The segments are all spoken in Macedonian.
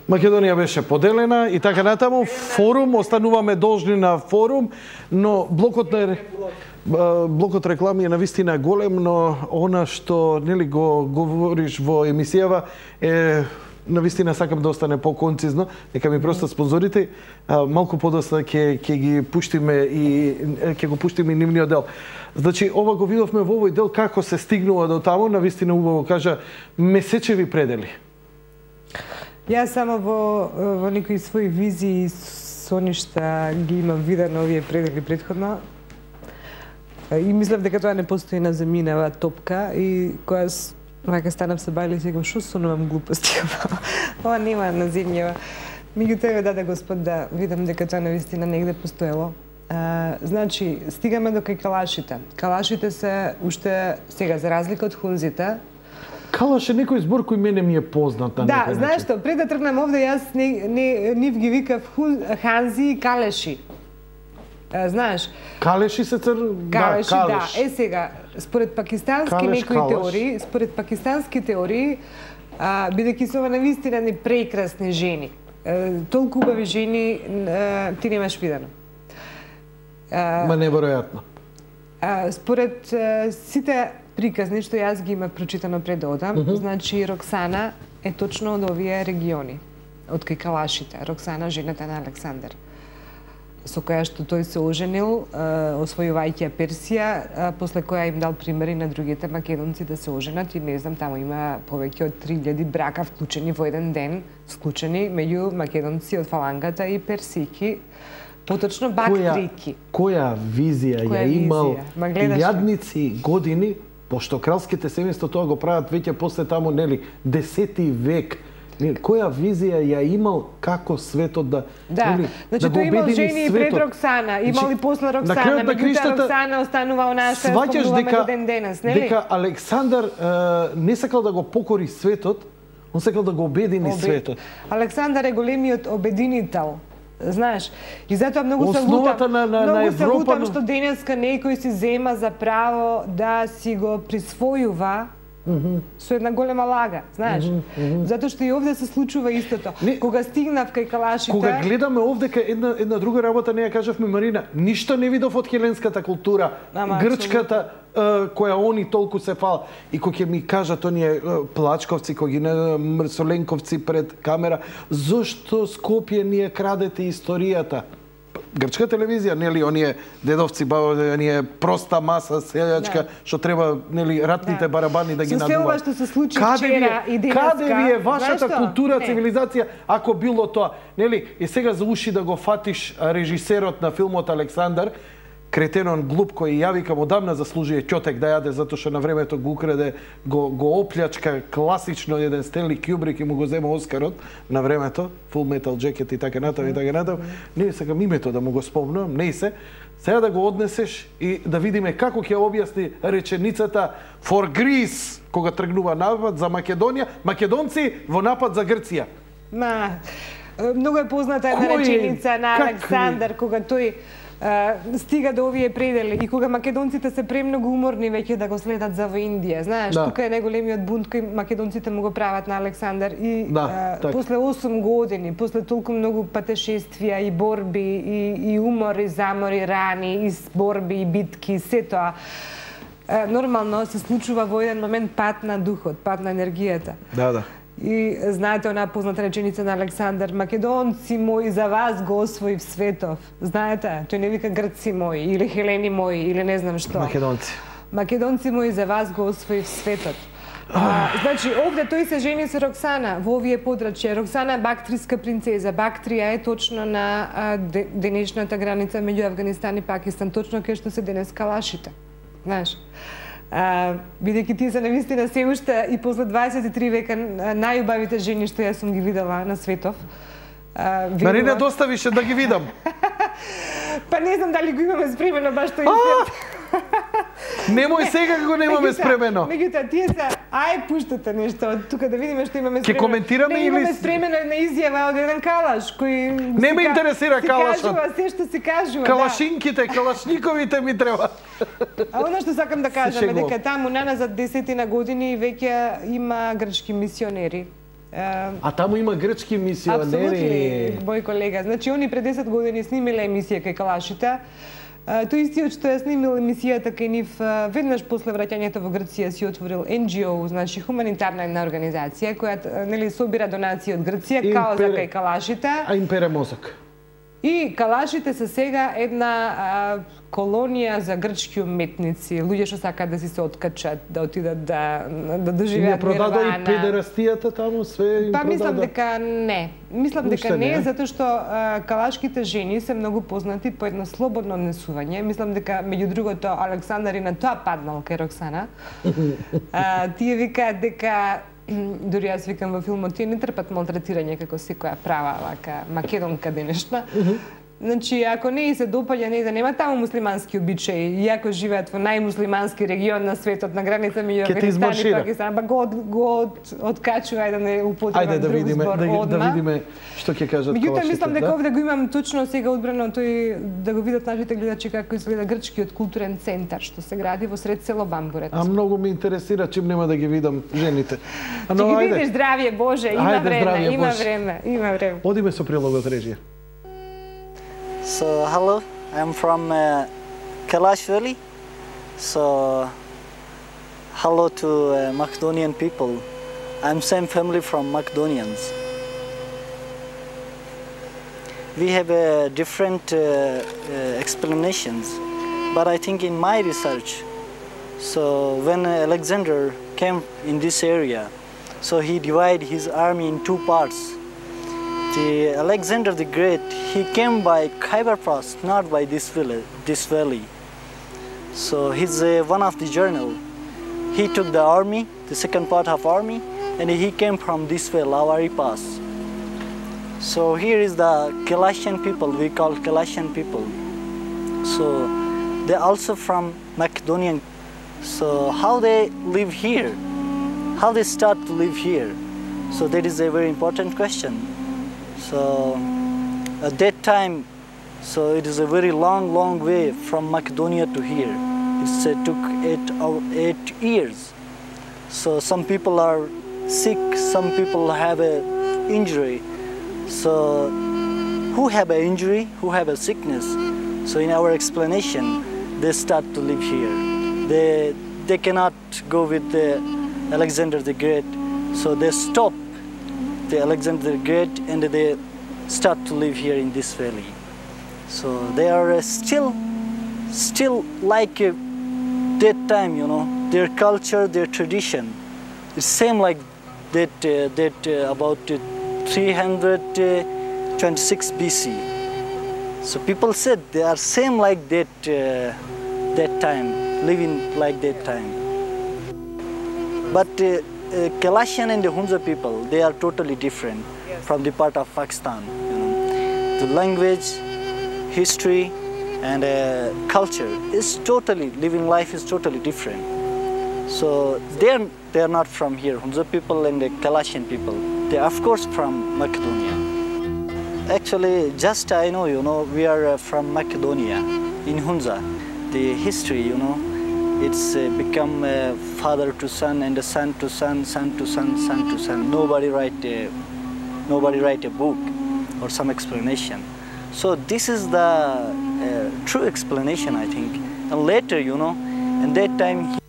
Македонија беше поделена и така натаму. Форум, остануваме должни на форум, но блокот реклами е навистина голем, но она што нели го говориш во емисијава е навистина сакам да остане по-концизно, нека ми просто спонзорите малку подоста ќе ги пуштиме и ќе го пуштиме и нивниот дел. Значи ова го видовме во овој дел како се стигнува до таму, навистина убаво кажа месечеви предели. Јас само во некои своји визии со ништа ги имам видено овие предели претходно. И мислев дека тоа не постои на земјинава топка и кога вака станав се бајле и сега шо сонувам глупости ова нема на земјава. Меѓутоа даде Господ да видам дека тоа навистина негде постоело. Значи, стигаме до кај калашите. Калашите се уште сега за разлика од хунзите. Калаш е некој збор кој мене ми е познат на некој начин. Да, знаеш што, пред да тргнам овде јас нив ги викав ханзи и калеши. Знаеш? Калеши се калеши, да. Сега, според пакистански некои теории, бидејќи се ова навистина ни прекрасни жени. Толку убави жени ти немаш видено. Ма неверојатно. Според сите приказни што јас ги имав прочитано пред да одам, значи Роксана е точно од овие региони, од кај калашите. Роксана, жената на Александар, со која што тој се оженил, освојувајќи Персија, после која им дал примери на другите македонци да се оженат и не знам, таму има повеќе од 3000 брака вклучени во еден ден, склучени меѓу македонци од фалангата и персики. Поточно бактрики. Која визија ја имал илјадници години, пошто кралските семејства тоа го прават веќе после таму, нели, 10 век. Која визија ја имал како светот да нели, значи тој имал жени и пред Роксана, имал и после Роксана, меѓутоа Роксана останува она што спомнуваме до ден денес, нели? Дека Александар не сакал да го покори светот, он сакал да го обедини светот. Александар е големиот обединител. Знаеш, и затоа многу се лутам што денеска некој си зема за право да си го присвојува со една голема лага, знаеш. Затоа што и овде се случува истото. Кога стигнав кај калашите... Кога гледаме овдека една друга работа, не ја кажавме, Марина, ништо не видов од хеленската култура, грчката, која они толку се фал. И кој ќе ми кажат оние плачковци, кој ги мрсоленковци пред камера, зошто Скопје ни ја крадете историјата? Грчка телевизија, нели, оние дедовци, оние проста маса селјачка, што треба, нели, ратните барабани да ги надуваат. Со се ова што се случи вчера и денеска. Каде ви е вашата култура, цивилизација, ако било тоа? Нели, и сега за уши да го фатиш режисерот на филмот Александар, кретенон глуп кој ја викам одамна заслужuje ќотек да јаде затоа што на времето го украде, го оплячка класично еден Стенли Кјубрик и му го зема Оскарот на времето, Full Metal Jacket и така натаму и така натаму. Не сакам името да му го спомнам, не се. Сега да го однесеш и да видиме како ќе објасни реченицата for Greece кога тргнува напад за Македонија, македонци во напад за Грција. Многу е позната една реченица на Александар кога тој стига до овие предели и кога македонците се премногу уморни веќе да го следат за во Индија. Знаеш, тука е најголемиот бунт кој македонците му го прават на Александар и после 8 години, после толку многу патешествија и борби и умори, замори, рани, и борби и битки, се тоа нормално се случува во еден момент пат на духот, пат на енергијата. Да. И знаете онаа позната реченица на Александар, македонци мои за вас го освоив светов. Знаете, тој не вика грци мои или хелени мои или не знам што. Македонци мои за вас го освоив светот. Значи, овде тој се жени со Роксана во овие подрачја. Роксана е бактриска принцеза. Бактрија е точно на денешната граница меѓу Авганистан и Пакистан, точно кај што се денес калашите. Знаеш? Бидејќи тие се навистина се уште и после 23 века најубавите жени што јас сум ги видела на светов. Марина, доставише да ги видам. Па не знам дали го имаме спремено баш тој инцидент. Немој сега го немаме спремено. Меѓутоа, тие се, пуштате нешто од тука да видиме што имаме спремено. Ке коментираме или... Имаме спремено една изјава од еден калаш, кој... Не ме интересира калашот. Си кажува се што се кажува. Калашинките, калашниковите ми треба. Она што сакам да кажам е дека таму наназад 10 години веќе има грчки мисионери А таму има грчки мисионери. Апсолутно, мој колега. Значи, они пред 10 години снимиле емисија кај калашите. Тој истиот што ја снимил емисијата кај нив, веднаш после враќањето во Грција си отворил NGO, значи хуманитарна една организација која нели собира донации од Грција као за кај калашите. А им пере мозок. И калашите се сега една колонија за грчки уметници, луѓе што сакаат да си се откачат, да отидат да доживеат нирвана. Не продаде и педерастијата таму, све им продаде? Мислам дека не. Мислам дека не, затоа што калашките жени се многу познати по едно слободно однесување. Мислам дека, меѓу другото, Александар и на тоа паднал кај Роксана. Тие викаат дека дури јас викам во филмот, тие не трпат малтретирање како секоја права вака македонка денешна. Значи, ако не и се допаѓа, не да нема таму муслимански обичаи, иако живеат во најмуслимански регион на светот, на граница меѓу Афганистан и Пакистан, па го откачува да не употребам друг збор одма. Да видиме што ќе кажат калашите. Меѓутоа, мислам дека овде го имам точно сега одбрано тој да го видат нашите гледачи како изгледа грчкиот културен центар што се гради во сред село Бамбурет. А многу ме интересира, чим нема да ги видам жените. Ќе ги видиш, здравје Боже, има време. Одиме со прилогот режија. So hello, I'm from Kalash Valley. So hello to Macedonian people. I'm same family from Macedonians. We have different explanations, but I think in my research, so when Alexander came in this area, so he divided his army in two parts. The Alexander the Great, he came by Khyber Pass, not by this valley. So he's one of the journal. He took the army, the second part of army, and he came from this way, Lavari Pass. So here is the Kalashian people, we call Kalashian people. So they're also from Macedonian. So how they live here? How they start to live here? So that is a very important question. So at that time, so it is a very long way from Macedonia to here. It took 8 years. So some people are sick, some people have an injury. So who have an injury, who have a sickness? So in our explanation, they start to live here. They cannot go with Alexander the Great, so they stop the Alexander the Great and they start to live here in this valley. So they are still like that time, you know, their culture, their tradition. It's same like that about 326 BC. So people said they are same like that time, living like that time. But Kalashian and the Hunza people, they are totally different from the part of Pakistan. You know, the language, history, and culture is totally, living life is totally different. So they are not from here. Hunza people and the Kalashian people, they are of course from Macedonia. Actually, just I know, you know, we are from Macedonia in Hunza. The history, you know, it's become father to son and son to son, son to son, son to son. Nobody write a book or some explanation. So this is the true explanation, I think. And later, you know, in that time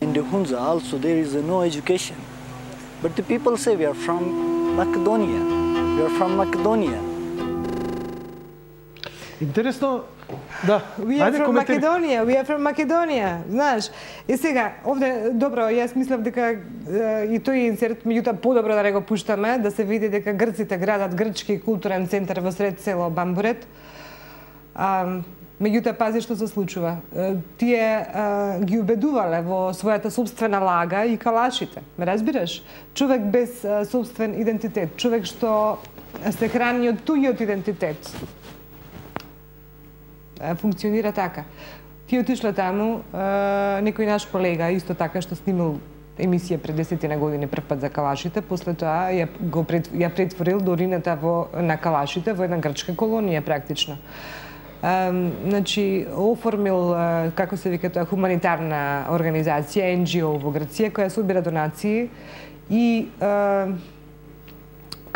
in the Hunza also there is no education. But the people say we are from Macedonia. We are from Macedonia. Интересно, да. We are from Macedonia, знаеш. И сега, овде, добро, јас мислам дека и тој инсерт, меѓутоа подобро да не го пуштаме, да се види дека грците градат грчки културен центар во сред село Бамбурет. Меѓутоа, пази што се случува. Тие ги убедувале во својата собствена лага и калашите. Ме разбираш? Човек без собствен идентитет, човек што се храни од туѓиот идентитет. Функционира така. Ти отишла таму, некој наш колега, исто така што снимал емисија пред 10 години прв пат за калашите, после тоа ја претворил до урината на калашите во една грчка колонија практично. Значи, оформил, како се вика тоа, хуманитарна организација, NGO во Грција, која собира донации и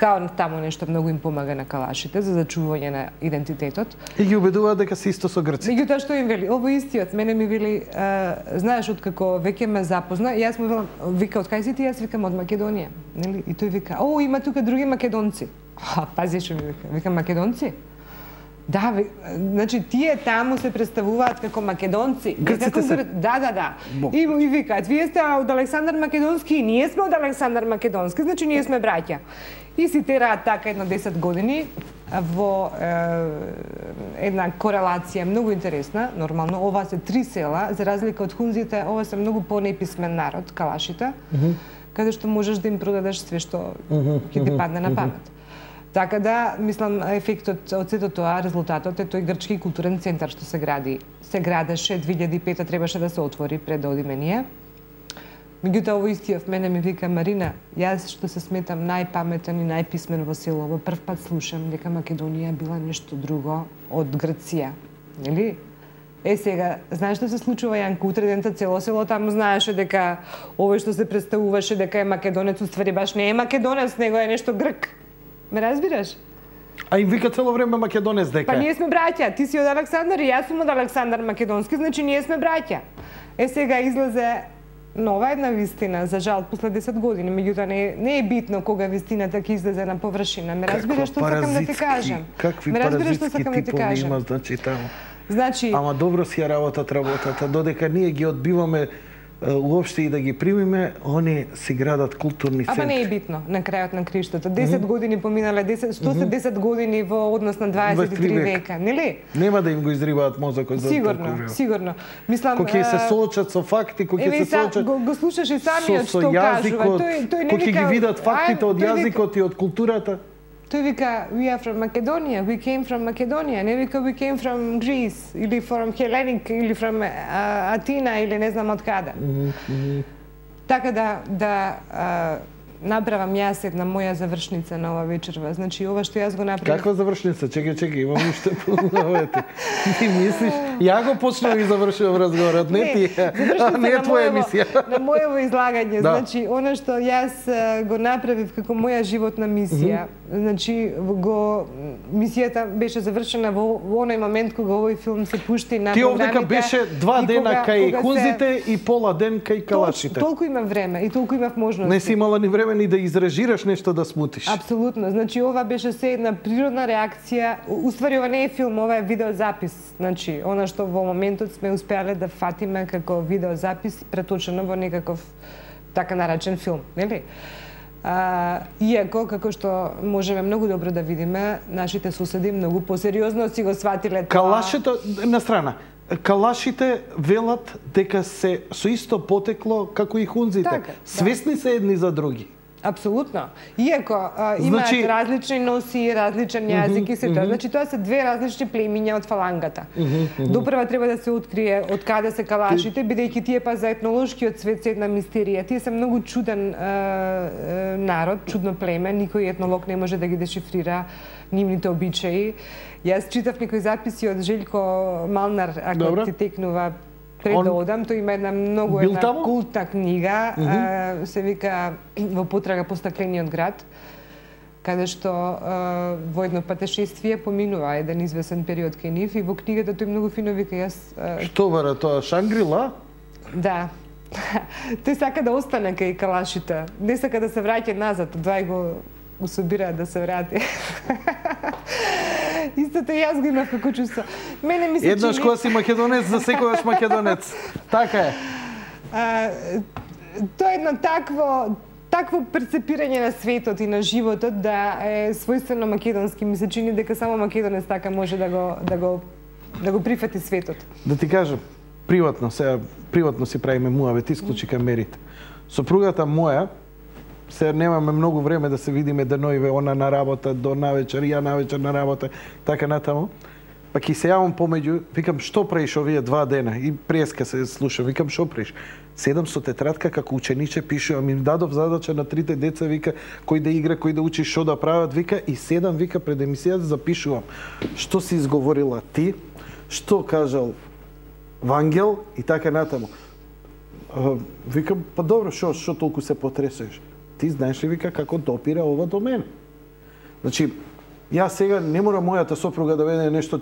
Као таму нешто многу им помага на калашите за зачување на идентитетот. И ги убедуваат дека се исто со грците. Меѓутоа што им вели? Ово истиот, мене ми вели, знаеш откако веќе ме запозна, јас му велам, вика, од кај си ти? Јас викам од Македонија, нели? И тој вика, о, има тука други македонци. Пази што ми вика, викам македонци? Да, значи тие таму се представуваат како македонци. Грците се... Да. И викаат, вие сте од Александар Македонски и ние сме од Александар Македонски, значи ние сме браќа. И си тераат така едно 10 години во една корелација многу интересна. Нормално, ова се 3 села, за разлика од хунзите, ова се многу понеписмен народ, калашите, каде што можеш да им продадеш све што ќе ти падне на памет. Така да, мислам, ефектот од сето тоа, резултатот е тој грчки културен центар што се гради. Се градеше, 2005 требаше да се отвори пред да одиме ние. Меѓутоа, ово истиот мене ми вика, Марина, јас што се сметам најпаметен и најписмен во село, прв пат слушам дека Македонија била нешто друго од Грција. Нели? Сега, знаеш што се случува, Јанко? Утре дента цело село таму знаеше дека овој што се представуваше дека е македонец, уствари баш не е македонец, него е нешто грк. Ме разбираш? А им вика цело време македонец дека. Па ние сме браќа, ти си од Александар и јас сум од Александар Македонски, значи ние сме браќа. Сега излезе нова една вистина, за жал, после 10 години, меѓутоа не е битно кога вистината ќе излезе на површина. Ме разбираш што сакам да ти кажам? Какви паразитски типови има, значи таму. Значи, ама добро си ја работата, додека ние ги одбиваме уопште и да ги примиме, они си градат културни центри. Ама не е битно на крајот на криштото. 10 години поминале, што се 10 години во однос на 23 века, нели? Нема да им го изрибаат мозокот за толку. Сигурно. Мислам, кој ќе се соочат со факти, кој ќе се соочат го слушаш и самиот што кажува. Тој кој ќе ги видат фактите од јазикот и од културата. Тој вика, we are from Macedonia, we came from Macedonia, не вика we came from Greece, или from Hellenic, или from Атина, или не знам од каде. Така да направам јас една моја завршница на ова вечерва. Значи, ова што јас го направив... Каква завршница? Чекај, имам уште полновете. Ти мислиш? Ја го почнав и завршувам разговорот, не ти. Не е твоја емисија. На моево излагање. Значи, она што јас го направив како моја животна мисија, значи, мисијата беше завршена во оној момент кога овој филм се пушти на програмите. Ти овдека беше 2 дена кај хунзите и пола ден кај калашите. Толку имав време и толку имав можности. Не си имала ни време ни да изрежираш нешто да смутиш. Апсолутно. Значи, ова беше се една природна реакција. Уствари, ова не е филм, ова е видеозапис. Значи, она што во моментот сме успеале да фатиме како видеозапис преточено во некаков така наречен филм, нели? Иако, како што можеме многу добро да видиме, нашите соседи многу посериозно си го сватиле тоа. Калашите, на страна, калашите велат дека се со исто потекло како и хунзите. Така, свесни се едни за други. Апсолутно. Иако имаат различни носи, различен јазик и се тоа. Значи, тоа се две различни племиња од фалангата. Допрва треба да се открие од каде се калашите, бидејќи тие па за етнолошкиот свет се една мистерија. Тие се многу чуден народ, чудно племе, никој етнолог не може да ги дешифрира нивните обичаи. Јас читав некои записи од Желјко Малнар, ако ти текнува пред да одам, тој има една многу култна книга, се вика Во потрага по стаклениот град, каде што во едно патешествие поминува еден извесен период кај нив и во книгата тој многу фино вика јас... Што бара тоа, Шангрила? Да. Тој сака да остане кај калашите, не сака да се враќа назад, двај го собираат да се врати. Истото јас го имав како чувство. Мене ми се еднаш кога си македонец, за секогаш македонец. Така е. Тоа е едно такво перцепирање на светот и на животот да е својствено македонски. Ми се чини дека само македонец така може да го прифати светот. Да ти кажам, приватно си правиме муавет, исклучи камерите. Сопругата моја, се немаме многу време да се видиме деноиве, она на работа до навечер, ја навечер на работа, така натаму. Па ќе се јавам помеѓу, викам, што правиш овие 2 дена? И преска се слушам, викам, што правиш? Седам со тетрадка како учениче, пишувам, им дадов задача на 3 деца, вика, кој да игра, кој да учи, што да прават, вика, и седам, вика, пред емисијата запишувам. Што си изговорила ти, што кажал Вангел и така натаму. Викам, па добро, што толку се потресеш? Ти знаеш ли, вика, како допира ова до мене? Значи, јас сега не мора мојата сопруга да веде нешто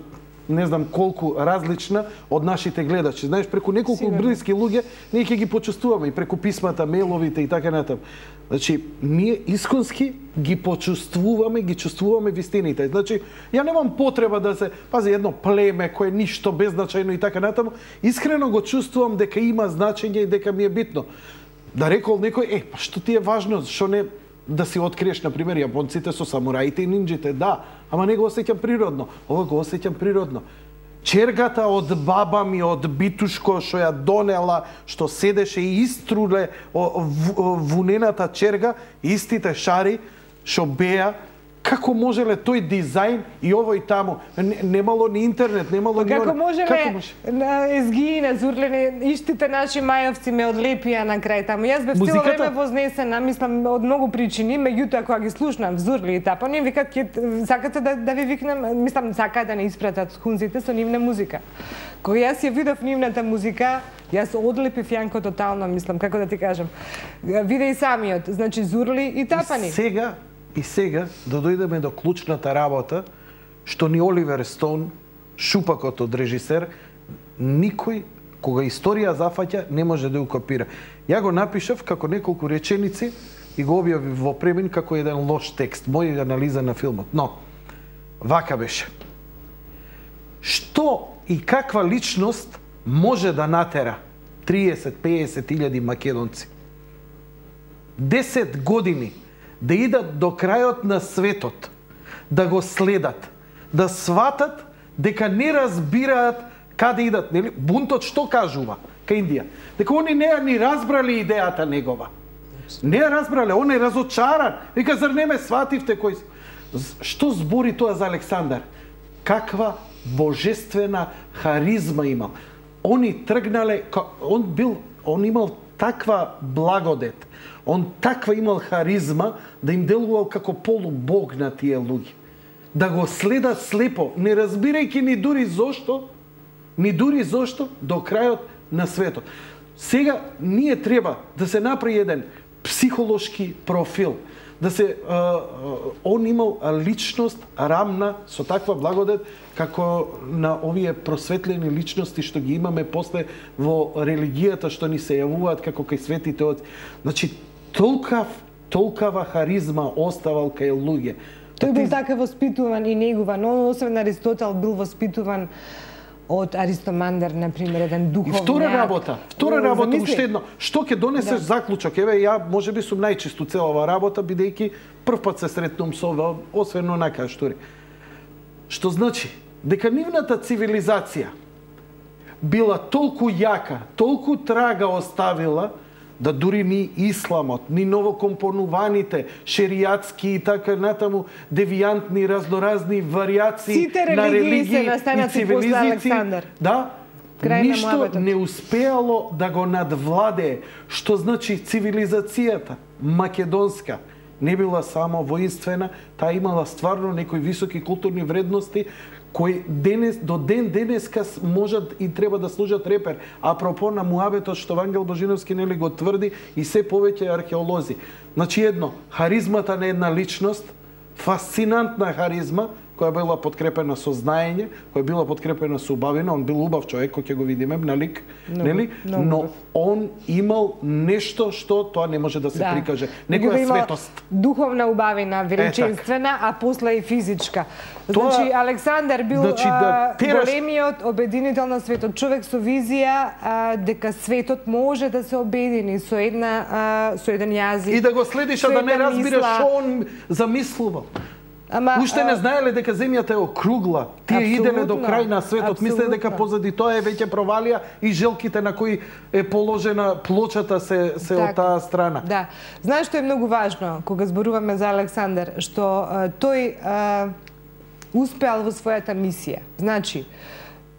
не знам колку различна од нашите гледачи. Знаеш, преку неколку блиски луѓе ние ќе ги почувствуваме и преку писмата, мейловите и така натаму. Значи, ние исконски ги почувствуваме, ги чувствуваме вистините. Значи, ја немам потреба да се пази едно племе кое е ништо беззначајно и така натаму. Искрено го чувствувам дека има значење и дека ми е битно. Да рекол некој, па што ти е важно, што не да си откриеш, например, јапонците со самураите и нинџите, да, ама не го осеќам природно. Ова го осеќам природно. Чергата од баба ми, од битушко, што ја донела, што седеше и иструле вунената черга, истите шари, што беа, како можеле тој дизајн и овој таму? Немало ни интернет, немало ни... Како можеле езгиина, зурлене, иштите наши мајовци ме одлепија на крај таму. Јас бев цело време вознесена, мислам, од многу причини, меѓутоа кога ги слушнам Зурли и тапа, не викат, сакате да ви викнем, мислам, сакаат да не испратат хунзите со нивна музика. Кога јас ја видов нивната музика, јас одлепив Јанко тотално, мислам, како да ти кажам. Виде и самиот, значи Зурли и Тапани. И сега да дојдеме до клучната работа, што ни Оливер Стоун, шупакот од режисер, никој, кога историја зафаќа, не може да ја копира. Ја го напишав како неколку реченици и го објавив во премин како еден лош текст, моја анализа на филмот. Но, вака беше. Што и каква личност може да натера 30-50 илјади македонци? 10 години да идат до крајот на светот, да го следат, да сватат дека не разбираат каде идат, нели? Бунтот што кажува кај Индија? Дека они не ја ни разбрали идејата негова. Не ја разбрале, он е разочаран. Вика, зар не ме свативте кој... Што збори тоа за Александар? Каква божествена харизма имал. Они тргнале, он имал таква благодет, он таква имал харизма да им делувал како полубог на тие луѓе. Да го следат слепо, не разбирајќи ни дури зошто до крајот на светот. Сега ние треба да се направи еден психолошки профил, да се он имал личност рамна со таква благодет како на овие просветлени личности што ги имаме после во религијата што ни се јавуваат како кај светите отци. Значи толкава харизма оставал кај луѓе. Тој бил така воспитуван и негуван, но освен Аристотел бил воспитуван од Аристомандер, например, еден духовник. И втора работа уште едно. Што ќе донесеш заклучок? Еве, ја можеби сум најчист у целава работа, бидејќи прв пат се сретнувам со ова, освен онака штури. Што значи? Дека нивната цивилизација била толку јака, толку трага оставила, да дури ни исламот, ни новокомпонуваните шеријатски и така натаму девијантни разноразни варијации на религии и цивилизации, да, ништо не успеало да го надвладее. Што значи цивилизацијата македонска не била само воинствена, таа имала стварно некои високи културни вредности кои до ден денеска можат и треба да служат репер. Апропо на муабетот што Вангел Божиновски нели го тврди и се повеќе археолози. Значи едно, харизмата на една личност, фасцинантна харизма, која била подкрепена со знаење, која била подкрепена со убавина, он бил убав човек, кој ќе го видиме на лик, нели? Но он имал нешто што тоа не може да се прикаже. Некоја светост. Духовна убавина, величинствена, а после и физичка. Значи, Александар бил големиот обединител на светот. Човек со визија дека светот може да се обедини со еден јазик. И да го следиш, а да не разбираш што он замислувал. Уште не знаеле дека земјата е округла. Тие иделе до крај на светот. Мисле дека позади тоа е веќе провалија и желките на кои е положена плочата се од таа страна. Да. Знаеш што е многу важно кога зборуваме за Александар, што тој успеал во својата мисија. Значи,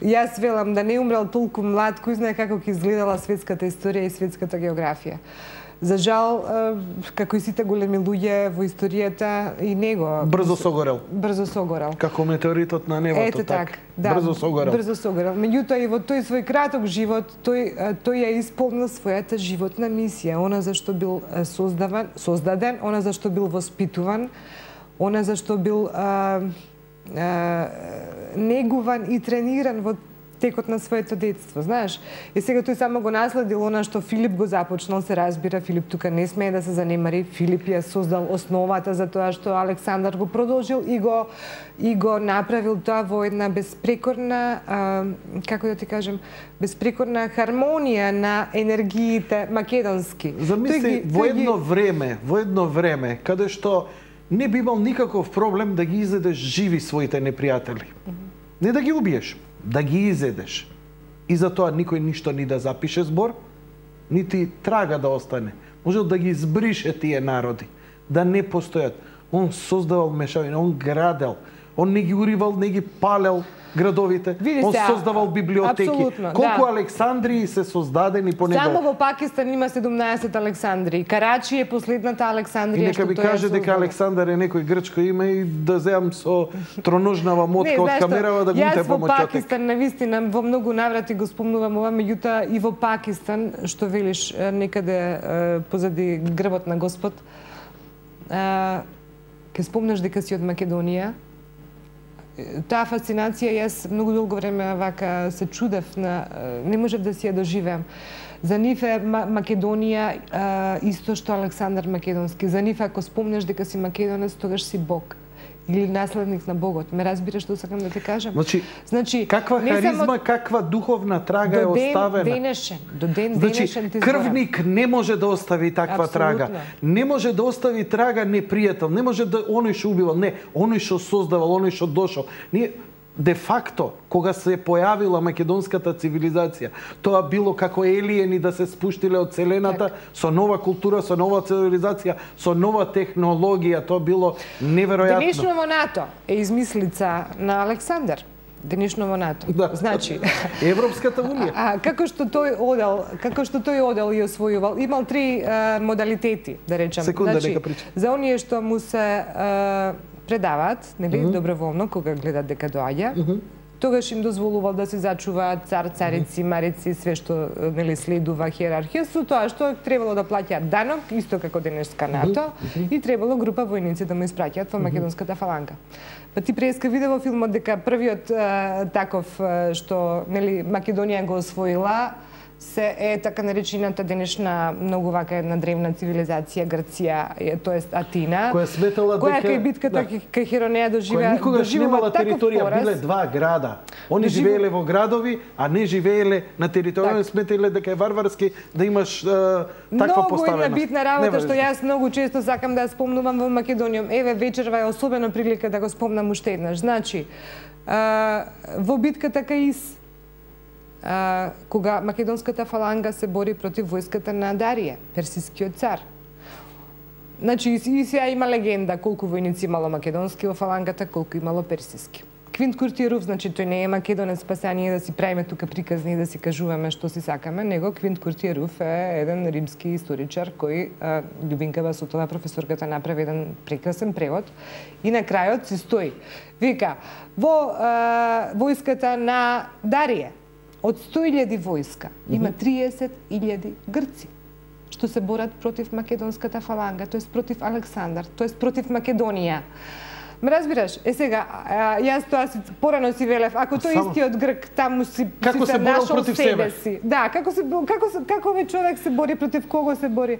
јас велам да не умрел толку млад, кој знае како ќе изгледала светската историја и светската географија. За жал, како и сите големи луѓе во историјата, и него... Брзо согорел. Брзо согорел. Како метеоритот на небото. Ете так. Да, брзо согорел. Брзо согорел. Меѓутоа и во тој свој краток живот, тој ја исполнил својата животна мисија. Она зашто бил создаден, она зашто бил воспитуван, она зашто бил негуван и трениран во текот на своето детство, знаеш. И сега тој само го наследил она што Филип го започнал, се разбира, Филип тука не смее да се занемари. Филип ја создал основата за тоа што Александар го продолжил и го направил тоа во една безпрекорна, како да ти кажем, безпрекорна хармонија на енергиите македонски. Замисли, во едно време, каде што не би имал никаков проблем да ги изедеш живи своите непријатели. Не да ги убиеш, да ги изедеш. И за тоа никој ништо ни да запише збор, нити трага да остане. Можел да ги избрише тие народи, да не постојат. Он создавал мешавина, он градел, он не ги уривал, не ги палел градовите, он создавал библиотеки. Колку Александрии се создадени по него? Само во Пакистан има 17 Александрии. Карачи е последната Александрија. И нека ми каже дека Александар е некој грчко име и да земам со троножнава мотка од камерава да го утепам од Чотек. Јас во Пакистан, навистина, во многу наврати го спомнувам ова, меѓутоа и во Пакистан, што велиш некаде позади грбот на Господ, ке спомнаш дека си од Македонија. Таа фасцинација, јас многу долго време вака се чудев, не можев да си ја доживеам. За нив е Македонија исто што Александар Македонски. За нив ако спомнеш дека си македонец, тогаш си бог. Или наследник на Богот. Ме разбираш што сакам да ти кажам? Значи каква харизма, каква духовна трага е оставена. До ден денешен ти крвник не може да остави таква трага. Не може да остави трага непријател. Не може да оној што убивал. Не, оној што создавал, оној што дошол. Ние де факто, кога се појавила македонската цивилизација, тоа било како елиени да се спуштиле од Вселената со нова култура, со нова цивилизација, со нова технологија, тоа било неверојатно. Денешново НАТО е измислица на Александар. Денешново НАТО. Значи, Европската унија. Како што тој одел и освојувал, имал 3 модалитети, да речам. Секунда, нека прича. За оние што му се предаваат, нели, доброволно, кога гледат дека доаѓа, тогаш им дозволувал да се зачуваат цар, царици, марици, све што нели следува хиерархија, со тоа што требало да плаќаат данок, исто како денешка НАТО, и требало група војници да му испраќаат во македонската фаланга. Па ти преска виде во филмот дека првиот таков што нели Македонија го освоила се е така наречената денешна многу вака една древна цивилизација Грција, тоест Атина, која сметала дека кај битката кај Херонеја доживеа никогаш немала територија, биле 2 града. Они живееле во градови, а не живееле на територија, сметале дека е варварски да имаш таква поставеност. Многу битна работа што јас многу често сакам да спомнувам во Македонија. Еве вечерва е особено прилика да го спомнам уште еднаш. Значи, во битката кај Ис, кога македонската фаланга се бори против војската на Дарија, персискиот цар. Значи, и сега има легенда колку војници имало македонски во фалангата, колку имало персиски. Квинт Куртиеров, значи тој не е македонец, па сега ние да си правиме тука приказни и да си кажуваме што си сакаме, него Квинт Куртиеров е еден римски историчар кој Љубинка Басотова, професорката, направи еден прекрасен превод и на крајот си стои. Вика, во војската на Дарија, од 100.000 војска има 30.000 грци што се борат против македонската фаланга, тоест против Александар, тоест против Македонија. Ме разбираш? Сега, јас тоа порано си велев, ако тој истиот грк таму си се нашол себе си. Да, како овој човек се бори, против кого се бори?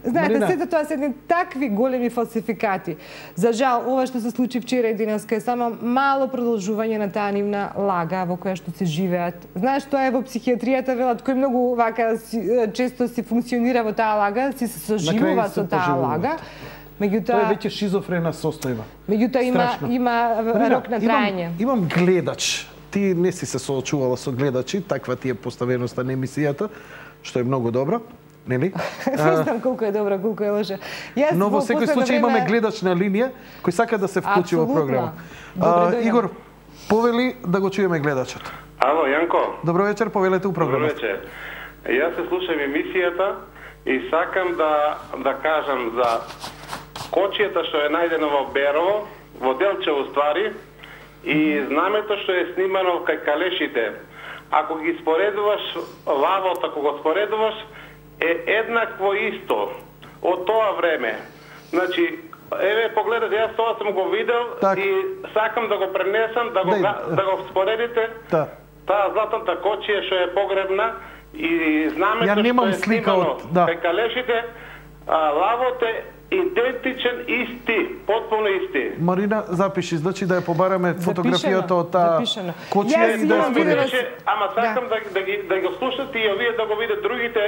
Знаете, сето тоа се едни такви големи фалсификати. За жал, ова што се случи вчера и денеска е само мало продолжување на таа нивна лага во која што се живеат. Знаеш, тоа е во психијатријата велат, кој многу вака често си функционира во таа лага, си се соживува со таа лага. Тоа е веќе шизофрена состојба. Меѓутоа има рок на трајање. Имам гледач. Ти не си се соочувала со гледачи, таква ти е поставеноста на емисијата, што е многу добро, нели? Не знам колку е добро, колку е лоша. Но во секој случај имаме гледач на линија кој сака да се вклучи во програма. Игор, повели да го чуеме гледачот. Ало, Јанко. Добро вечер, повелете у програмата. Добро вечер. Јас се слушам емисијата и сакам да кажам за кочијата што е најдено во Берово, во Делчево ствари, и знамето што е снимано кај Калешите. Ако ги споредуваш лавот, ако го споредуваш, е еднакво исто од тоа време. Значи, Еве, погледате, јас тоа сум го видел и сакам да го пренесам, да го споредите. Таа златната кочија што е погребна и знамето што е снимано кај калешите, лавот е идентичен, исти, потполно исти. Марина, запиши, значи да ја побараме фотографијата од таа кочија и да ја споредиш. Ама сакам да го слушате и овие да го видат другите.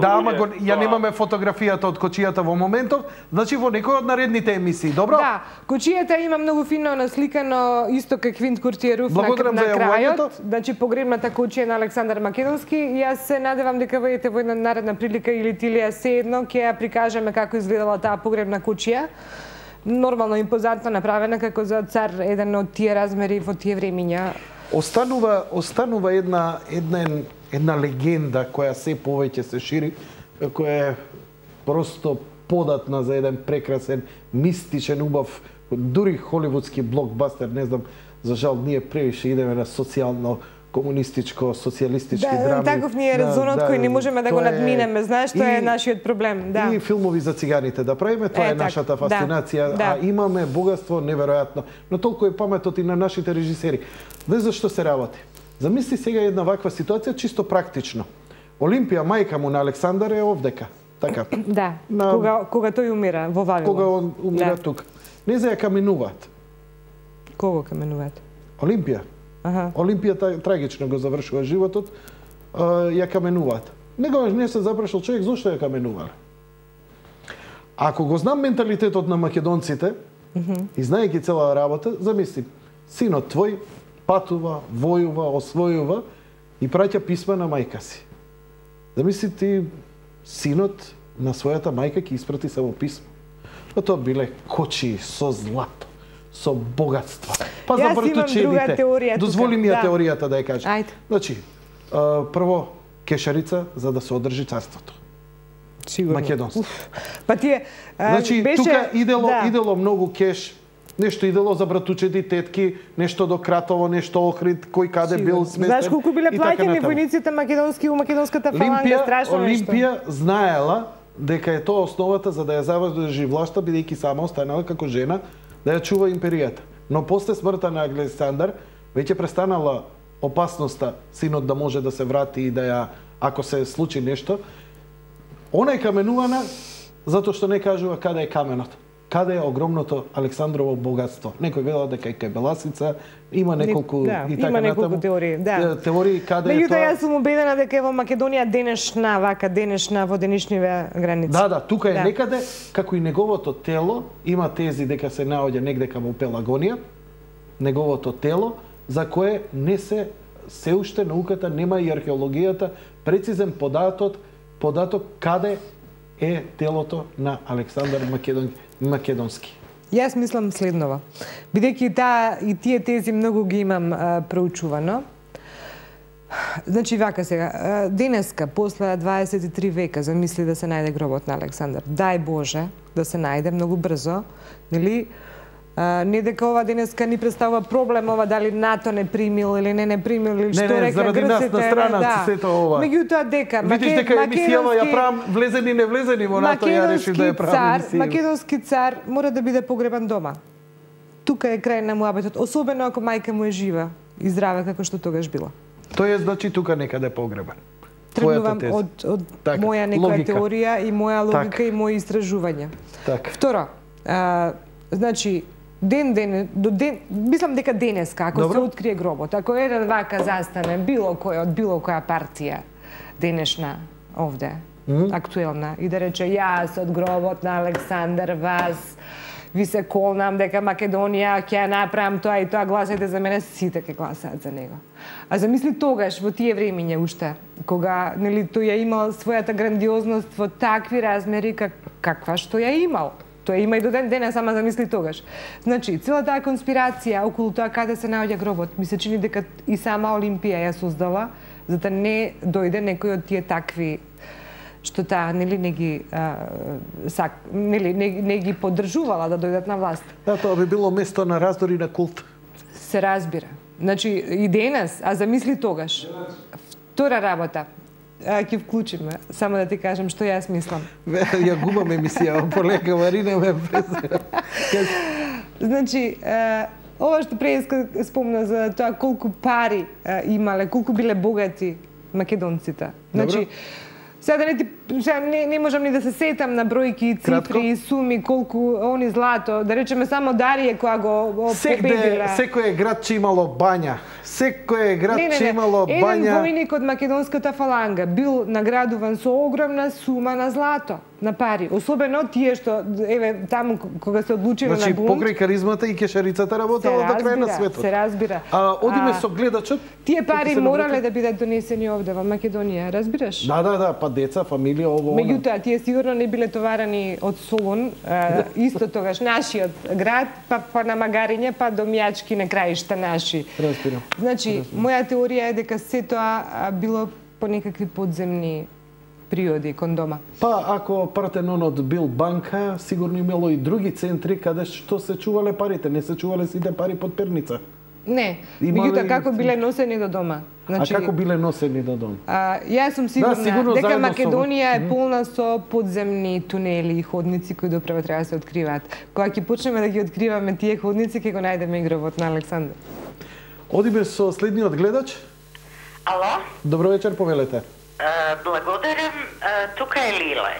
Да, ама ја немаме фотографијата од кочијата во моментов, значи во некој од наредните емисии, добро? Да, кочијата има многу фино насликано, исто како Квинт Куртиеров на крајот, значи погребната кочија на Александар Македонски. Јас се надевам дека видите во една наредна прилика или Тилија се едно ќе ја прикажеме како изгледала таа погребна кучија. Нормално импозантно направена како за цар, еден од тие размери во тие времиња. Останува една легенда која се повеќе се шири, која е просто податна за еден прекрасен, мистичен, убав, дури холивудски блокбастер, не знам, за жал ние превише идеме на социјално комунистичко, социјалистички драми. Таков ни е резонот кој не можеме да го надминеме, знаеш, тоа е нашиот проблем. И филмови за циганите да правиме, тоа е нашата фасцинација, а имаме богатство неверојатно. Но толку е паметот и на нашите режисери. Знаеш зашто се работи? Замисли сега една ваква ситуација чисто практично. Олимпија, мајка му на Александар е овдека. Така. Да, кога тој умира во Вавилон. Кога он умира тука. Не за ја каменуваат. Кого каменуваат? Олимпија. Олимпија трагично го завршува животот, ја каменуваат. Негогаш не се запрашал човек зошто ја каменувале. Ако го знам менталитетот на македонците, и знаејќи цела работа, замисли, синот твој патува, војува, освојува и праќа писма на мајка си. Замисли ти, синот на својата мајка ќе испрати само писмо. А тоа биле кочии со злато, со богатства. Па за братучедите. Дозволи ми ја теоријата да ја кажам. Значи, прво кешарица за да се одржи царството. Сигурно. Македонство. Па тие значи тука идело многу кеш, нешто идело за братучеди, тетки, нешто до Кратово, нешто Охрид, кој каде бил сместен. Знаеш колку биле плаќени војниците македонски у македонската фаланга, страшно нешто. Олимпија знаела дека е тоа основата за да ја заврши власта, бидејќи сама останала како жена да ја чува империјата. Но после смртта на Александар веќе престанала опасноста синот да може да се врати и да ја, ако се случи нешто, она е каменувана затоа што не кажува каде е каменот. Каде е огромното Александрово богатство. Некој велел дека е Беласица, има неколку и така има неколку теории, теории каде е тоа. Меѓутоа јас сум убедена дека е во Македонија денешна во денешниве граници. Да, тука е некаде, како и неговото тело, има тези дека се наоѓа негде во Пелагонија, неговото тело, за кое не се уште науката нема и археологијата прецизен податок каде е телото на Александар Македонски. Јас мислам следново. Бидејќи и тие тези многу ги имам проучувано. Значи вака сега, денеска после 23 века замисли да се најде гробот на Александар. Дај Боже да се најде многу брзо, нели? Не дека ова денеска ни представува проблем ова дали НАТО не примил или не примил или што река заради нас на страна сето ова. Меѓутоа дека видиш дека емисијава ја правам влезени не влезени во НАТО, ја решив да ја правам емисија. Македонски цар мора да биде погребан дома. Тука е крај на муабетот, особено ако мајка му е жива и здрава како што тогаш била. Тоа е значи тука некаде погребан. Тргнувам од моја некоја теорија и моја логика и мои истражувања. Второ, значи мислам дека денеска, ако се открие гробот, ако еден вака застане, било кој од било која партија денешна овде, актуелна, и да рече јас од гробот на Александар вас, ви се колнам дека Македонија ќе ја направам тоа и тоа, гласајте за мене, сите ќе гласаат за него. А замисли тогаш, во тие времиња уште, кога тој ја имал својата грандиозност во такви размери каква што ја имал. Тоа има и до ден денес, ама замисли тогаш. Значи, цела таа конспирација околу тоа каде се наоѓа гробот, ми се чини дека и сама Олимпија ја создала, за да не дојде некој од тие такви што таа не ги поддржувала да дојдат на власт. Да, тоа би било место на раздори на култ. Се разбира. Значи, и денес, а замисли тогаш. Втора работа. ќе вклучиме, само да ти кажам што јас мислам. Ја губам емисија, полека Марина ме презира. Значи, ова што преска спомна за тоа колку пари имале, колку биле богати македонците. Значи, сега не можам ни да се сетам на бројки, цифри, суми, колку они злато, да речеме само Дарија која го победила. Секој град че имало бања. Секој град че имало бања. Еден војник од македонската фаланга бил наградуван со огромна сума на злато, на пари. Особено тие што, еве, таму кога се одлучило на бунт. Значи, покрај каризмата и кешарицата работела до крај на светот. Се разбира. Одиме со гледачот. Тие пари морале да бидат донесени овде во Македонија, разбираш? Да, па деца, фамилија, ово. Меѓутоа, тие сигурно не биле товарани од Солун, исто тогаш нашиот град, па на магариња, па до мјачки на краишта наши. Разбирам. Значи, моја теорија е дека се тоа било по некакви подземни приоди кон дома. Па, ако Партенонот бил банка, сигурно имало и други центри каде што се чувале парите. Не се чувале сите пари под перница. Не, меѓутоа како биле носени до дома. Значи, како биле носени до дома? Јас сум сигурна дека Македонија е полна со подземни тунели и ходници кои доправо треба да се откриваат. Кога ќе почнеме да ги откриваме тие ходници, ќе го најдеме игровот на Александар. Одиме со следниот гледач. Ало? Добро вечер, повелете. Благодарам, тука е Лиле.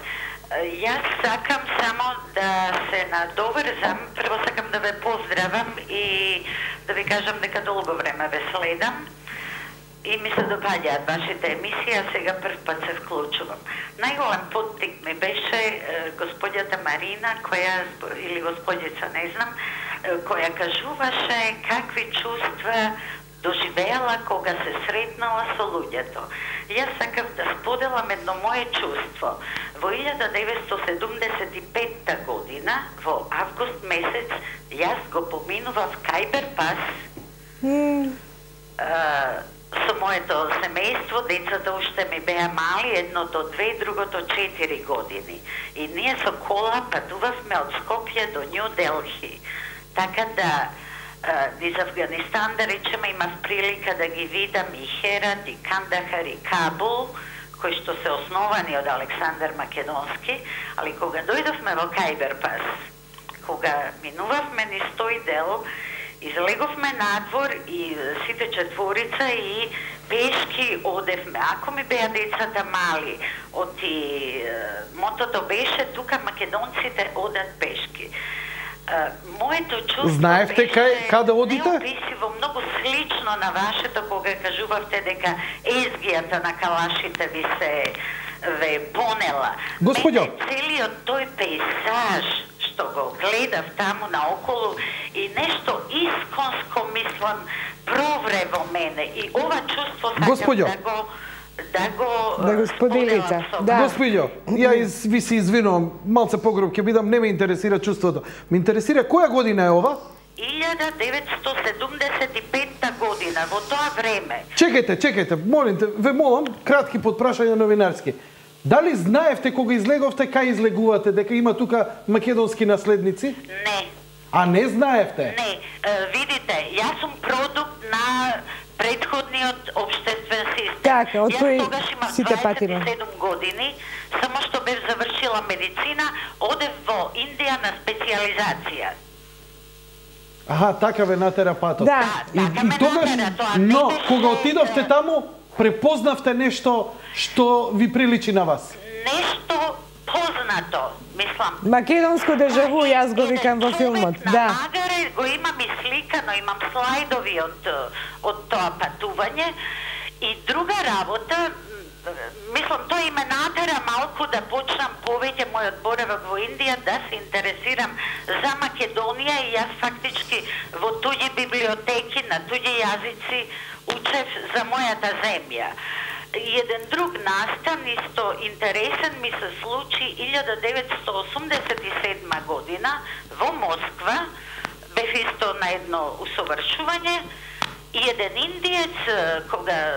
Јас сакам само да се надоврзам, прво сакам да ве поздравам и да ви кажам дека долго време ве следам и ми се допаѓаат вашите емисии, а сега прв пат се вклучувам. Најголем поттик ми беше господјата Марина, или господјица, не знам, која кажуваше какви чувства доживеала кога се сретнала со луѓето. Јас сакав да споделам едно мое чувство. Во 1975 година, во август месец, јас го поминував Кајбер-пас со моето семејство, децата уште ми беа мали, едното 2, другото 4 години. И ние со кола патувавме од Скопје до Нью Делхи. Така да низ Афганистан, да речеме, имав прилика да ги видам и Херат, и Кандахар, и Кабул, кои што се основани од Александар Македонски, али кога дојдовме во Кајбер-пас, кога минувавме низ тој дел, излеговме надвор и сите четворица и пешки одевме. Ако ми беа децата мали, мотото беше тука македонците одат пешки. Моето чувство знаевте каде одите? Неописиво, многу слично на вашето, кога кажувавте дека езгијата на калашите ви се ве понела. Господјо, целиот тој пейзаж што го гледав таму наоколу и нешто исконско, мислам, провре во мене и ова чувство сакам да го споделите. Господјо, ја ви се извинувам, малце погроб ќе бидам, не ме интересира чувството. Ме интересира која година е ова? 1975 година, во тоа време. Чекајте, молите, ве молам, кратки подпрашања новинарски. Дали знаевте кога излеговте, кај излегувате, дека има тука македонски наследници? Не. А не знаевте? Не. Видите, јас сум продукт на предходниот општествен систем. Така, од кој сите патиме. Јас тогаш имам 27 години, само што бев завршила медицина, одев во Индија на специализација. Аха, така ве натера патот. Да. И тогаш, но кога отидовте таму, препознавте нешто што ви приличи на вас? Нешто познато, мислам. Македонско дежаву, јас го викам во филмот. Да. На магаре го имам и сликано, имам слайдови од тоа патување. И друга работа, мислам, тоа и ме натера малку да почнам повеќе мојот боравок во Индија, да се интересирам за Македонија и јас фактички во туѓи библиотеки, на туѓи јазици учев за мојата земја. Еден друг настан, исто интересен, ми се случи 1987 година во Москва. Бев исто на едно усовршување и еден индиец, кога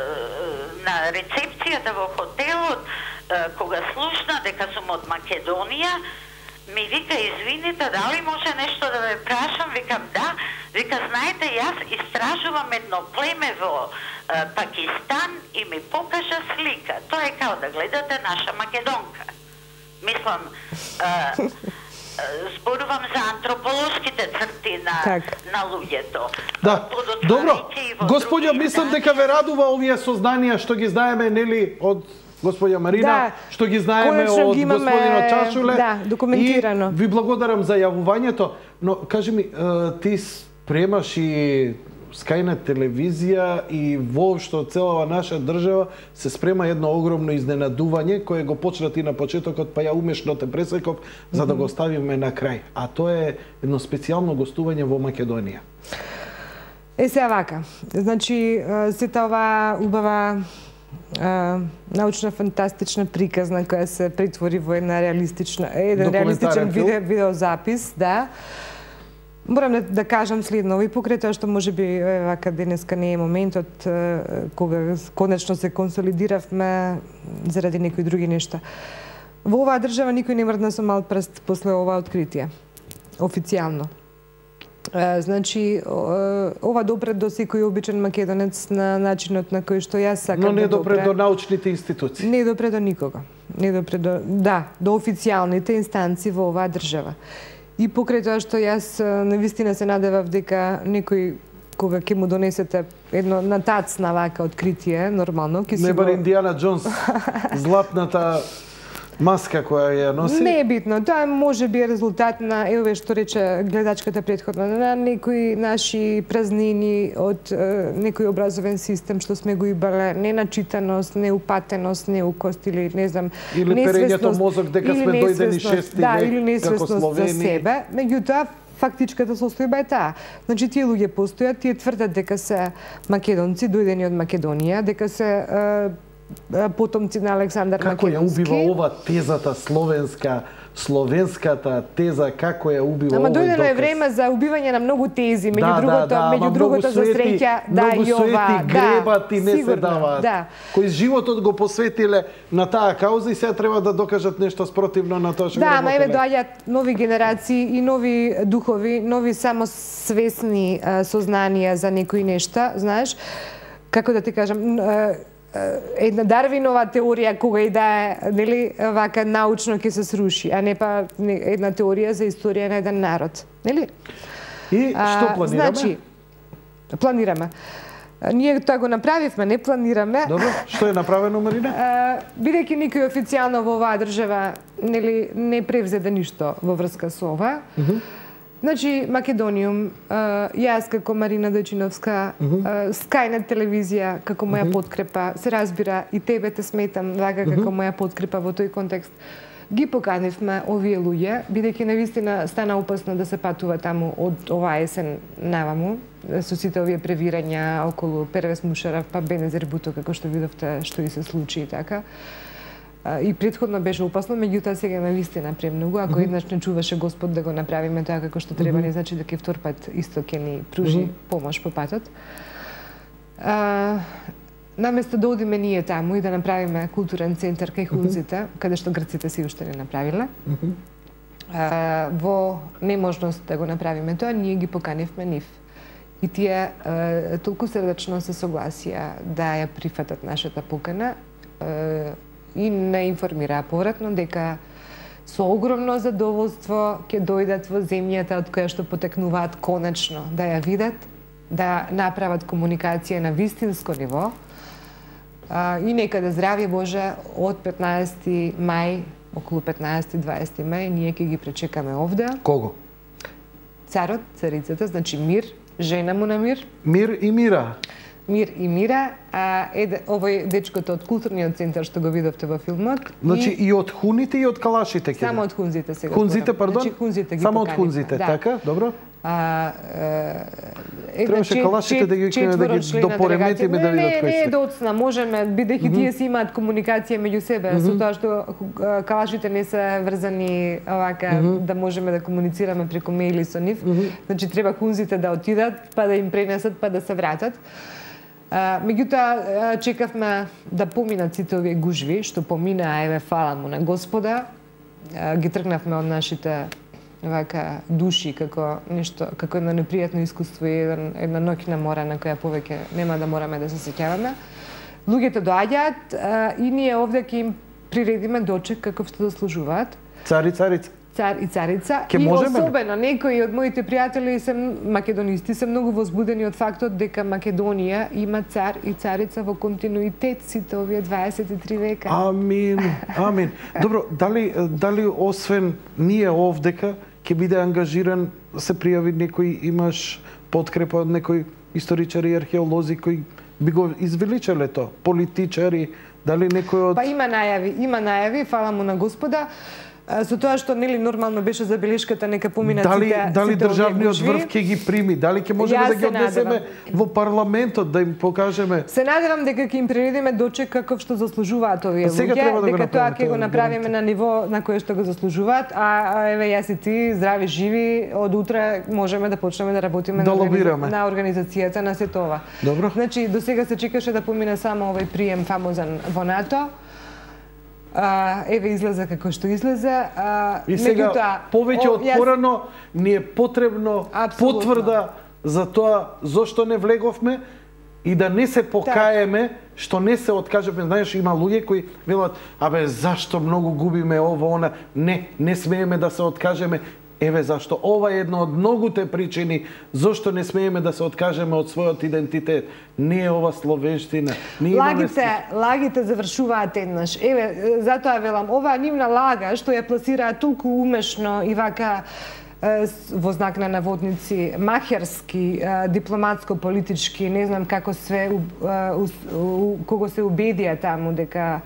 на рецепцијата во хотелот, кога слушна дека сум од Македонија, ми вика, извините, дали може нешто да ве прашам? Викам, да. Вика, знаете, јас истражувам едно племе во Пакистан и ми покажа слика. Тоа е као да гледате наша Македонка. Мислам, зборувам за антрополошките црти на луѓето. Да, добро. Господја, мислам дека ве радува овие сознанија што ги знаеме, нели, од господја Марина, што ги знаеме од господинот Чашуле. Да, документирано. И ви благодарам за јавувањето, но кажи ми, ти спремаш и Скајнет телевизија и воопшто целава наша држава се спрема едно огромно изненадување кое го почна ти на почетокот, па ја умешно те пресеков за да го ставиме на крај. А тоа е едно специјално гостување во Македонија. Сега вака, значи сета оваа убава научна фантастична приказна која се претвори во една реалистичен видеозапис, да. Морам да кажам следно, и покрај тоа што можеби вака денеска не е моментот кога конечно се консолидиравме заради некои други нешта. Во оваа држава никој не мрдна со мал прст после оваа откритие. Официјално. Значи, ова допре до секој обичен македонец на начинот на кој што јас сакам да допре. Но не допре до научните институции. Не допре до никога. Не допре до официјалните инстанции во оваа држава. И покрај тоа што јас навистина се надевав дека некој кога ќе му донесете едно на тацна вака откритие, нормално, ќе си не бар Индијана Джонс, златната маска која ја носи? Не е битно. Тоа може би е резултат на, еве што рече гледачката претходно, на некои наши празнини од некој образовен систем што сме го имале, неначитаност, неупатеност, неукост или не знам, или перењето мозок дека сме дојдени 6 век, или несвесност за себе. Меѓутоа, фактичката состојба е таа. Значи, тие луѓе постојат, тие тврдат дека се македонци, дојдени од Македонија, дека се потомци на Александар Македонски. Како ја убива ова тезата словенската теза, како ја убива овој доказ? Ама дојдело е време за убивање на многу тези, меѓу другото за среќа, многу суети гребат и не се даваат. Кои животот го посветиле на таа кауза и сега треба да докажат нешто спротивно на тоа што го работеле. Да, ама еве доаѓаат нови генерации и нови духови, нови самосвесни сознанија за некои нешта, знаеш, како да ти кажам, една Дарвинова теорија кога и да е, нели, вака научно ќе се сруши, а не па една теорија за историја на еден народ, нели? И што планираме? Значи, планираме. Ние тоа го направивме, не планираме. Добро, што е направено, Марина? Бидејќи никој официјално во оваа држава, нели, не превзеде ништо во врска со ова. Значи, Македониум, јас како Марина Дојчиновска, Скајнет телевизија како моја подкрепа, се разбира и тебе те сметам вака како моја подкрепа во тој контекст. Ги поканивме овие луѓе, бидејќи навистина стана опасно да се патува таму од оваа есен наваму, со сите овие превирања околу Первез Мушарав, па Бенезер Буто, како што видовте што и се случи и така. И претходно беше опасно, меѓутоа сега навистина премногу. Ако еднаш не чуваше Господ да го направиме тоа како што треба, не значи дека втор пат исто ќе ни пружи помош по патот. Наместо да одиме ние таму и да направиме културен центар кај Хунзите, каде што грците си уште не направиле, во неможност да го направиме тоа, ние ги поканивме нив. И тие толку срдечно се согласија да ја прифатат нашата покана, и не информираа повратно дека со огромно задоволство ќе дојдат во земјата од која што потекнуваат конечно да ја видат, да направат комуникација на вистинско ниво и некаде здравје Боже од 15 мај, околу 15-20 мај, ние ќе ги пречекаме овде. Кого? Царот, царицата, значи Мир, жена му на Мир. Мир и Мира. Мир и Мира, овој дечкото од културниот центар што го видовте во филмот. Значи и од хуните и од калашите ќе. Само од хунзите сега. Хунзите, пардон? Значи хунзите ги само од хунзите, така, добро. Требаше калашите да ги допореметиме да видат кои се. Не, доцна, можеме, бидејќи тие си имаат комуникација меѓу себе, со тоа што калашите не се врзани овака да можеме да комуницираме преку мејли со нив. Значи треба хунзите да отидат, па да им пренесат, па да се вратат. Меѓутоа, чекавме да поминат сите овие гужви, што поминаа, еве, фала му на Господа. Ги тргнавме од нашите вака души како нешто, како едно непријатно искуство и една ноќна мора на која повеќе нема да мораме да се сеќаваме. Луѓето доаѓаат и ние овде ќе им приредиме дочек каков што заслужуваат. Цар и царица. Цар и царица. И особено некои од моите пријатели се македонисти се многу возбудени од фактот дека Македонија има цар и царица во континуитет сите овие 23 века. Амин, амин. Добро, дали освен ние овдека ќе биде ангажиран, се пријави некој, имаш подкрепа од некои историчари и археолози кои би го извеличале тоа, политичари, дали некој од... Па има најави, фала му на Господа. Со тоа што нели нормално беше забелешката нека поминат дали државниот врв ќе ги прими, дали ќе можеме да ги однесеме во парламентот да им покажеме. Се надевам дека ќе им приредиме дочек каков што заслужуваат овие луѓе, дека тоа ќе го направиме на ниво на кое што го заслужуваат, а еве јас и ти здрави живи од утре можеме да почнеме да работиме на организацијата на сето ова. Добро. Значи до сега се чекаше да помине само овој прием фамозен во НАТО. Еве излезе како што излезе. И сега повеќе од порано ни е потребно потврда за тоа зошто не влеговме и да не се покаеме што не се откажеме. Знаеш, има луѓе кои велат, абе зашто многу губиме ово, она, не смееме да се откажеме. Еве зашто ова е една од многуте причини зошто не смееме да се откажеме од својот идентитет. Не е ова словенштина. Лагите завршуваат еднаш. Еве, затоа велам, оваа нивна лага што ја пласираат толку умешно и вака во знак на наводници, махерски, дипломатско-политички, не знам како све, кого се убедија таму дека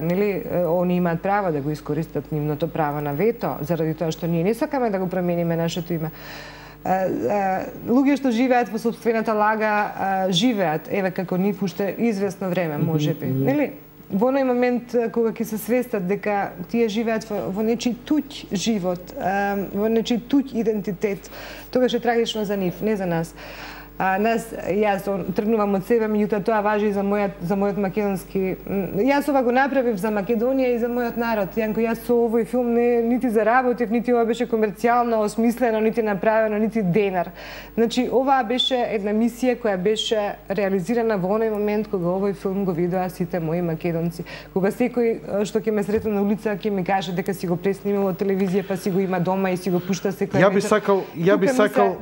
нели они имаат право да го искористат нивното право на вето заради тоа што ние не сакаме да го промениме нашето име. Луѓе што живеат во сопствената лага живеат еве како нив уште известно време можеби, нели? Во оној момент кога ќе се свестат дека тие живеат во нечи туѓ живот, во нечи туѓ идентитет, тогаш е трагично за нив, не за нас. Јас тргнувам од себе, меѓутоа тоа важи и за мојот македонски. Јас ова го направив за Македонија и за мојот народ. Јанко, јас со овој филм нити заработив, нити ова беше комерцијално осмислено, нити направено, нити денар. Значи, ова беше една мисија која беше реализирана во оној момент кога овој филм го видоа сите мои македонци. Кога секој што ќе ме сретне на улица ќе ми каже дека си го преснимил од телевизија, па си го има дома и си го пушта секој вечер. Ја би сакал,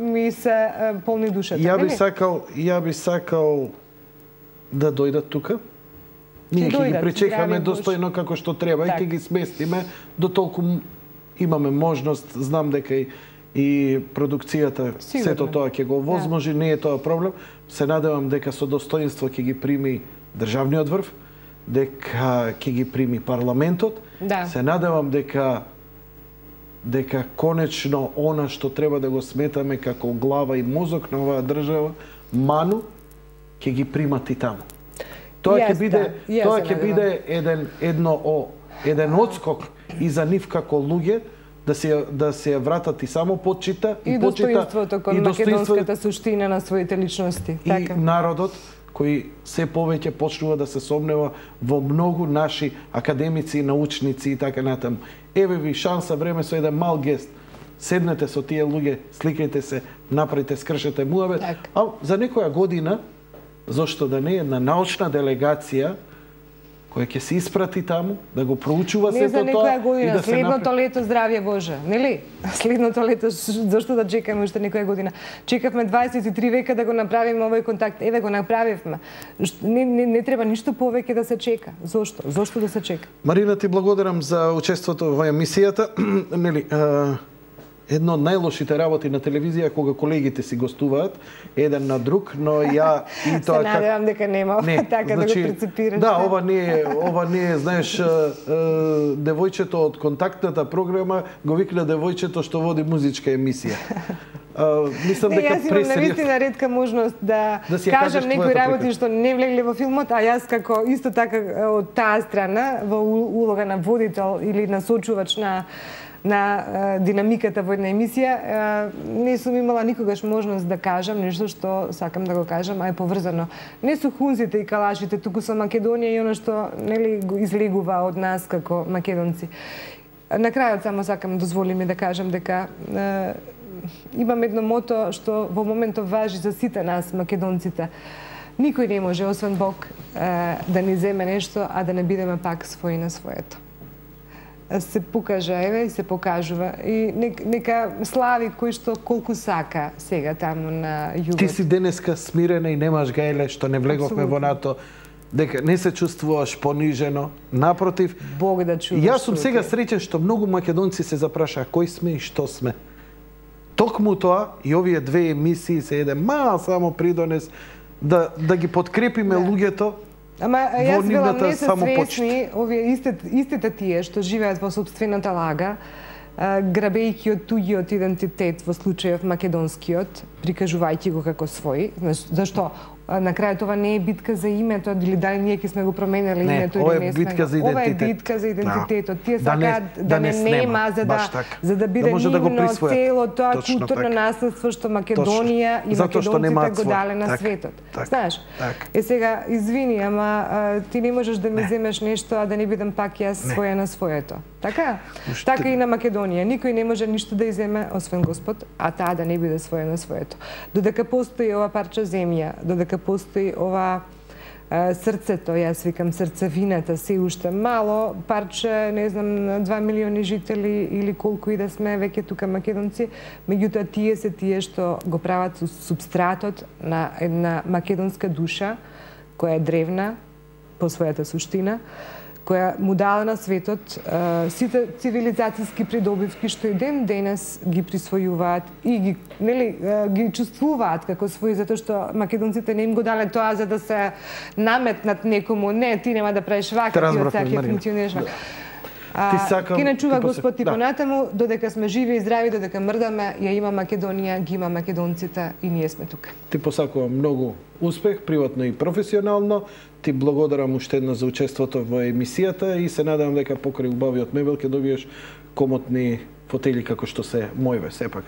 ми се полни душата. Ја би сакал да дојдат тука. Ние ќе ги пречекаме достојно како што треба и ќе ги сместиме до толку имаме можност. Знам дека и продукцијата сето тоа ќе го возможи, не е тоа проблем. Се надевам дека со достоинство ќе ги прими државниот врв, дека ќе ги прими парламентот. Се надевам дека конечно она што треба да го сметаме како глава и мозок на оваа држава, ману, ќе ги примат и таму. Тоа ќе биде еден отскок и за нив како луѓе да се вратат и само почита и достоинството кон македонската суштина на своите личности. И народот кој се повеќе почнува да се сомнева во многу наши академици, научници и така натаму. Еве ви шанса, време со еден мал гест. Седнете со тие луѓе, сликајте се, направите, скршете муабет. А за некоја година, зошто да не, една научна делегација која ќе се испрати таму, да го проучува сето тоа. Не за некоја година, следното лето, здравје Боже, нели? Следното лето, зашто да чекаме уште некоја година? Чекавме 23 века да го направиме овој контакт. Еве го направивме. Не треба ништо повеќе да се чека. Зошто? Зошто да се чека? Марина, ти благодарам за учеството во емисијата. Нели, едно од најлошите работи на телевизија кога колегите си гостуваат еден на друг, но ја и тоа се надевам дека нема така да го прецепираш. Да, ова не е, знаеш, девојчето од контактната програма го викна девојчето што води музичка емисија. Мислам дека јас имам навистина ретка можност да кажам некои работи што не влегле во филмот, а јас како исто така од таа страна во улога на водител или насочувач на динамиката во една емисија, не сум имала никогаш можност да кажам нешто што сакам да го кажам, а е поврзано не со хунзите и калашите, туку со Македонија и оно што нели го излегува од нас како македонци. На крајот само сакам, дозволи ми да кажам дека имам едно мото што во моментов важи за сите нас, македонците. Никој не може, освен Бог, да ни земе нешто, а да не бидеме пак своји на своето. Се покажа, еве, и се покажува. И нека слави кој што колку сака сега таму на југот. Ти си денеска смирена и немаш гајле што не влеговме во НАТО, дека не се чувствуваш понижено, напротив. Бог да чуваш. Јас сум сега среќен што многу македонци се запрашаа кој сме и што сме. Токму тоа и овие две емисии се еден мал само придонес да ги подкрепиме луѓето. Ама јас велам не се свесни овие истите тие што живеат во сопствената лага, грабејќи од туѓиот идентитет, во случајов македонскиот, прикажувајќи го како свој. Зашто? На крајот ова не е битка за името, или дали ние ќе сме го променели името или не сме. Ова е битка за идентитетот. Тие сакаат да не нема, за да биде нивно цело тоа културно наследство што Македонија и македонците го дале на светот. Знаеш? Сега, извини, ама ти не можеш да ми земеш нешто, а да не бидам пак јас своја на своето. Така? Така и на Македонија. Никој не може ништо да иземе, освен Господ, а таа да не биде своја на своето. Додека постои ова парче земја, додека постои ова срцето, јас викам срцевината, се уште мало парче, не знам, 2 милиони жители или колку и да сме веќе тука македонци, меѓутоа тие се тие што го прават субстратот на една македонска душа, која е древна по својата суштина, која му дала на светот сите цивилизацијски придобивки што и ден денес ги присвојуваат и ги чувствуваат како своји, затоа што македонците не им го дале тоа за да се наметнат некому. Не, ти нема да правиш вака, ти од саке функционираш вака. Ки не чува Господ и понатаму, додека сме живи и здрави, додека мрдаме, ја има Македонија, ги има македонците и ние сме тука. Ти посакувам многу успех, приватно и професионално. Ти благодарам уште еднаш за учеството во емисијата и се надевам дека покрај убавиот мебел ќе добиеш комотни фотели како што се мојве, сепак.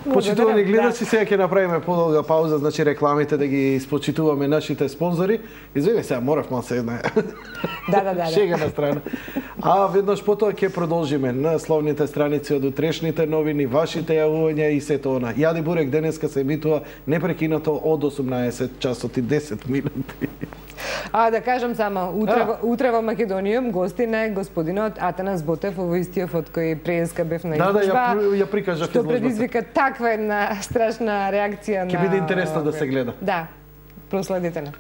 Почитувани гледачи, сега ќе направиме подолга пауза, значи рекламите да ги испочитуваме нашите спонзори. Извини, сега морав малце една. Да. Шега на страна. А веднаш потоа ќе продолжиме на словните страници од утрешните новини, вашите јавувања и сето она. Јади Бурек денеска се емитува непрекинато од 18 часот и 10 минути. Да кажам само, утре во Македонија гостин е господинот Атанас Ботев, во истиот од кој преска бев на изложба. Ја прикажав изложбата. Што предизвика таква една страшна реакција на... Ќе биде интересно да се гледа. Да, проследете на.